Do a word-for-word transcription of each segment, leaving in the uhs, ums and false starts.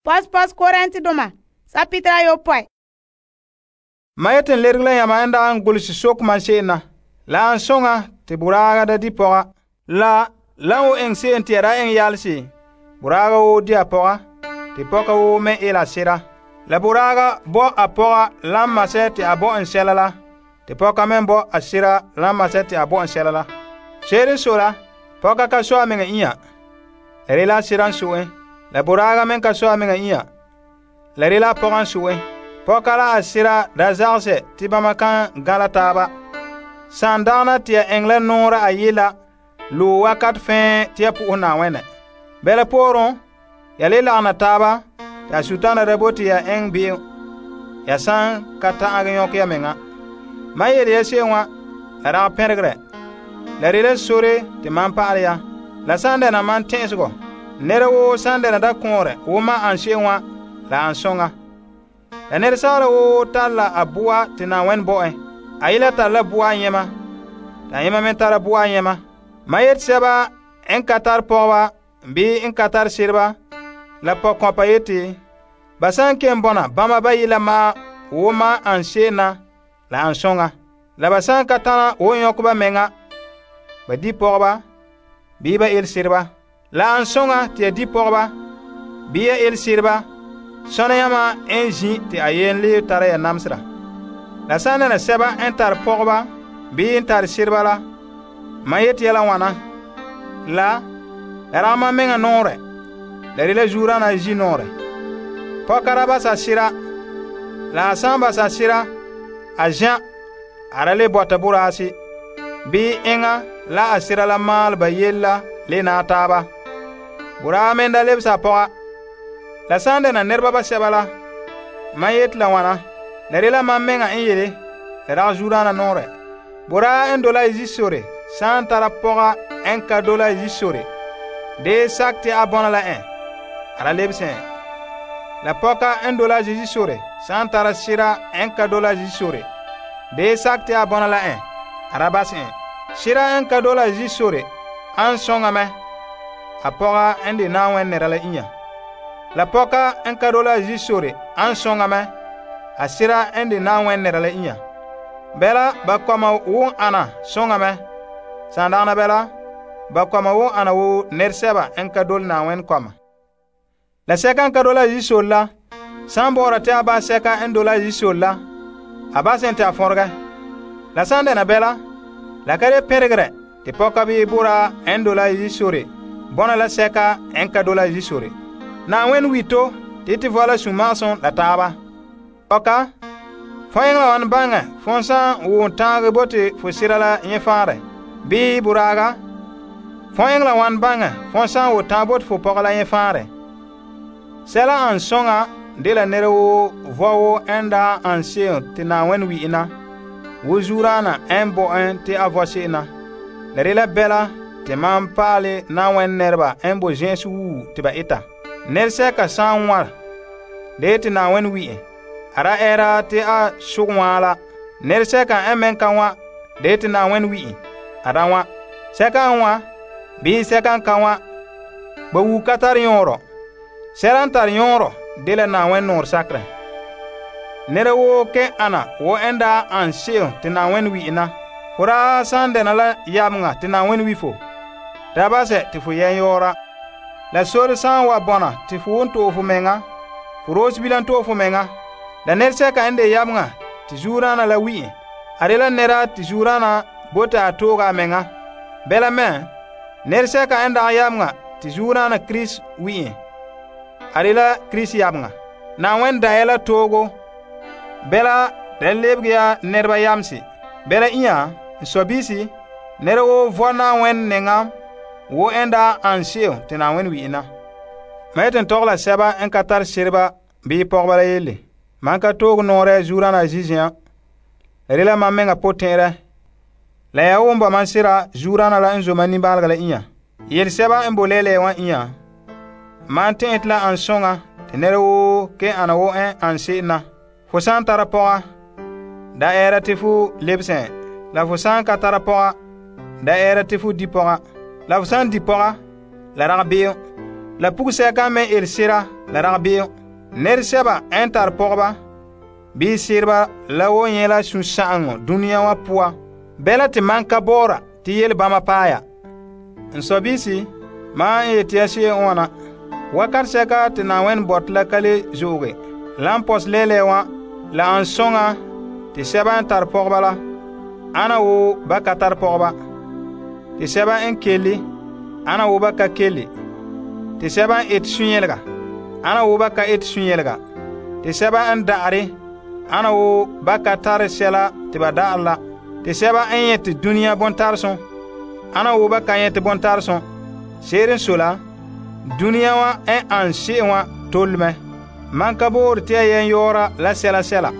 Pos pos Korintedoma sapitra ayopɔe. Ma yeten lerege la yama en daan gulse sok man se'em na. La an soŋa te boraaga da di pɔga. La lan wo eŋ se'em te ya da eŋ yalse. Boraaga wo di a pɔga, te pɔka wo me ela sera. La boraaga bo a pɔga lan masɛ te a bo en sɛla la, te pɔka me bo a sera lan masɛ te a bo en sɛla la. Se'ere so la, pɔka ka so a meŋa inya. La rela a sera n so'e. La boraaga me ka so a meŋa inya. La rela a pɔga n so'e. Pɔka la a sera da zagsɛ te bama kan gãla taaba. San dagana te ya eŋ la nɔɔra a yela lo wakat fɛɛ te ya po'ohɛ Na'ayenɛ. Bɛla pooren, ya le lagana taaba te a sutana da bote ya eŋ be'em. Ya san ka ta'an yɔkɛ ya meŋa. Ma yele ya se'em wa, la dagɛ pɛnregere. La rela sore te man pa'alɛ ya. La san dɛna man tɛ'ɛsegɔ. Nɛra woo san dɛna da kɔɔrɛ wo ma an se'em wa, la an soŋa. La nɛresagara woo tara la a boa te Na'ayenɛ bo en. A yela tara la boa nyɛma, ta yɛma me tara boa nyɛma. Ma yete sɛba n ka tare pɔgɔba bii n ka tare sereba la pɔkɔmpa yete, ba san ken bɔna bama bayi la ma wo ma an se'em na, la an soŋa. La ba san ka tana wo nyɔkɛ ba meŋa, ba di pɔgɔba bii ba el sereba. La an soŋa te ya di pɔgɔba bii ya el sereba, sɔna yama en zi te a yen le tara ya namsera. La san dɛna sɛba n tare pɔgɔba bii n tare sereba la, ma yete ya la wana. La, la ragɛ mam meŋa nɔɔrɛ, la rela zuurana zi nɔɔrɛ. Pɔka ra basa sera, la a san basa sera, a zã, a ra le bɔta boraase, bii eŋa la a sera la maal ba yel la le na taaba. Boraa me da lebsa a pɔga. La san dɛna nɛreba basɛba la, ma yete la wana, la rela mam meŋa n yele, la ragɛ zuurana nɔɔrɛ. Boraa n dola zi sore, san tara pɔga n ka dola zi sore, dee sak te a bɔna la en, a ra lebsɛ en. La pɔka n dola zi sore, san tara sera n ka dola zi sore, dee sak te a bɔna la en, a ra bas en. Sera n ka dola zi sore, an soŋa mɛ, a pɔga n de Na'ayenɛ nɛra la inya. La pɔka n ka dola zi sore, an soŋa mɛ, a sera n de Na'ayenɛ nɛra la inya. Bɛla ba kɔma wo ana soŋa mɛ. San dagana bɛla, ba kɔma wo ana wo nɛresɛba n ka dole Na'ayenɛ kɔma. La sɛka n ka dola zi sore la, san bɔ'ɔra te a ba sɛka n dola zi sore la, a ba sen te a fɔregɛ. La san dɛna bɛla, la ka de pɛnregere te pɔka bii boraa n dola zi sore bɔna la sɛka n ka dola zi sore. Na'ayenɛ wito te te vɔla sũ-magesem la taaba. Pɔka, fo eŋɛ la wan baŋɛ fon san wʋʋn tãagɛ bote fo sera la yẽ fãarɛ, bii boraaga, fo eŋɛ la wan baŋɛ fon san wʋ tãag bote fo pɔga la yẽ fãarɛ. Sɛla an soŋa de la nɛra woo vɔ wo n daa an se'em te Na'ayenɛ wi'e na, wo zuuraana n bo en te a vɔ se'em na. La rela bɛla te mam paale Na'ayenɛ nɛreba n bo zẽ'ese wuu te ba eta. Nɛresɛka san wãr, de te Na'ayenɛ wi'e, a ra ɛɛra te a sog wãa la. Nɛresɛka n meŋ ka wã, de te Na'ayenɛ wi'e, a ra wã. Sɛka n wã, bii sɛka n ka wã, ba wuu ka tare yõorɔ. Sɛla n tare yõorɔ de la Na'ayenɛ nɔɔrɛ sakerɛ. Nɛra woo kẽ ana wo n daa an se'em te Na'ayenɛ wi'e na. Fo daa san dɛna la yameŋa te Na'ayenɛ wi fo, da basɛ te fo yɛn yɔɔra. La sore san wa bɔna te fo won to'e fo meŋa, fo roos bilam to'e fo meŋa. La nɛresɛka n de yameŋa te zuuraana la wi'e, a de la nɛra te zuuraana bote a tooga a meŋa. Bɛla mɛ, nɛresɛka n dagɛ yameŋa te zuuraana Kirisi wi'e, a de la Kirisi yameŋa. Na'ayenɛ da ya la toogo, bɛla da lebege ya nɛreba yamse. Bɛla inya, n sɔbiisi, nɛra woo vɔ Na'ayenɛ nɛŋa wo n daa an se'em te Na'ayenɛ wi'e na. Ma yeten tɔgɛ la sɛba n ka tare sereba bii pɔgeba la yelle. Man ka toog nɔɔrɛ zuuraana zizia, la rela mam meŋa potɛɛrɛ. La ya wʋm ba man sera zuuraana la n zoma nimbaalega la inya. Yelesɛba n bo lɛɛlɛɛ wã inya, man tẽ'ɛ te la an soŋa te nɛra woo ke ana wo n an se'em na. Fo san tara pɔga, da ɛɛra te fo lebsẽ, la fo san ka tara pɔga, da ɛɛra te fo di pɔga. La fo san di pɔga, la rag be'em. La pugsɛka me el sera la ragbe'em. Nɛresɛba n tare pɔgɔba bii sereba la woo nyɛ la sunsa'aŋɔ dunia wa poan. Bɛla te man ka bɔɔra te yele bama paɛ ya. N sɔbiisi, maan n yeti ya se'em n wana. Wakat sɛka te Na'ayenɛ bɔte la ka le zo'oge. La n pɔsɛ lɛɛlɛɛ wã, la an soŋa te sɛba n tare pɔgɔba la ana wo ba ka tare pɔgɔba. Te sɛba n kelle ana wo ba ka kelle. Te sɛba n ete sunyɛlega ana wo ba ka ete sunyɛlega. Te sɛba n da'are ana wo ba ka tare sɛla te ba da'are la. Te sɛba n nyɛte dunia bontaresum ana wo ba ka nyɛte bontaresum. Se'ere n sɔe la, dunia wa n an se'em wa tole mɛ. Man ka boore te ya yen yɔɔra la sɛla sɛla.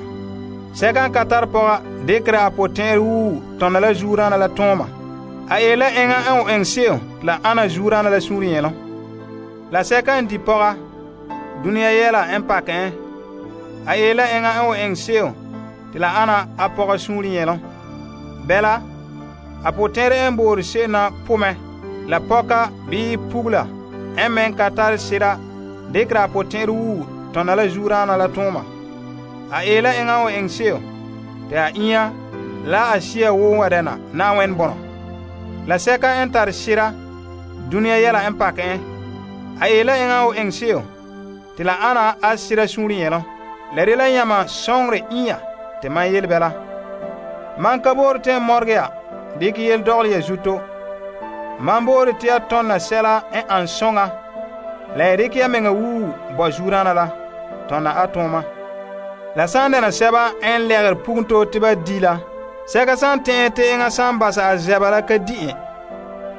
Sɛka n ka tare pɔga dekera a potɛn'ɛrɛ wuu tɔna la zuurana la tɔɔma. A ee la eŋa n o eŋɛ se'em la ana zuurana la suunre nyɛlom. La sɛka n di pɔga dunia yɛla n pakɛ en. A ee la eŋa n o eŋɛ se'em te la ana a pɔga suunre nyɛlom. Bɛla, a potɛn'ɛrɛ n boore se'em na pomɛ la pɔka bii pugla n men ka tare sera dekera a potɛn'ɛrɛ wuu tɔna la zuurana la tɔɔma. A ee la eŋa n o eŋɛ se'em te a inya la a sia woo wa dɛna Na'ayenɛ bɔnɔ. La sɛka n tare sera dunia yɛla n pakɛ en. A ee la eŋa n o eŋɛ se'em te la ana a sera suunre nyɛlom. La de la yãma sɔŋre inya te man yele bɛla. Man ka boore te n mɔrege ya dikɛ yele dɔgɔle ya zuto. Man boore te ya tɔnna sɛla n an sɔŋa la ya dikɛ ya meŋa wuu bɔ zuurana la tɔnna a tuuma. La sã n dɛna sɛba n lɛgere pugunto te ba di la, sɛka sã n tɛ'ɛ te eŋa sã n basa a zɛba la ka di en,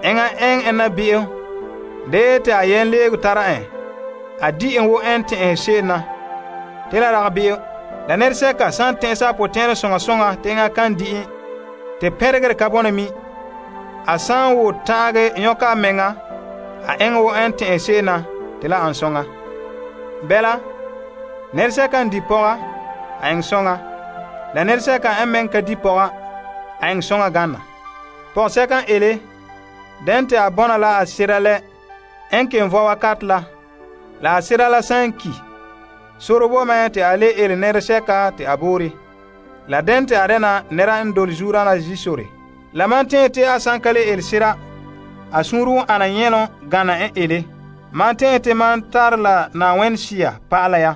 eŋa ɛŋ en na be'em, dee te a yen leegu tara en, a di en wo en tɛ'ɛhe se'em na. Te la rag be'em, la nɛresɛka sã n tɛ'ɛsa a potɛn'ɛrɛ sõŋa sõŋa te eŋa kan di en, te pɛregere ka bɔna mi, a sã n wo ta'age yõka a meŋa, a eŋɛ wo en tɛ'ɛhe se'em na te la an sõŋa. Bɛla, nɛresɛka n di pɔga, a eŋɛ sõŋa. La nɛresɛka n meŋ ka di pɔga, a eŋɛ sõŋa gana. Pɔgɔsɛka n ele, dɛn te a bɔna la a sera lɛ n ken vɔ wakat la, la a sera la sã n ki, sore bo mɛ te a le ele nɛresɛka te a boore. La dɛn te a dɛna nɛra n dole zuurana zisore. La man tẽe te a sã n ka le ele sera, a sũuru n ana nyɛlom gana n ele. Man tẽe te man tare la Na'ayenɛ Sea pa'ala ya.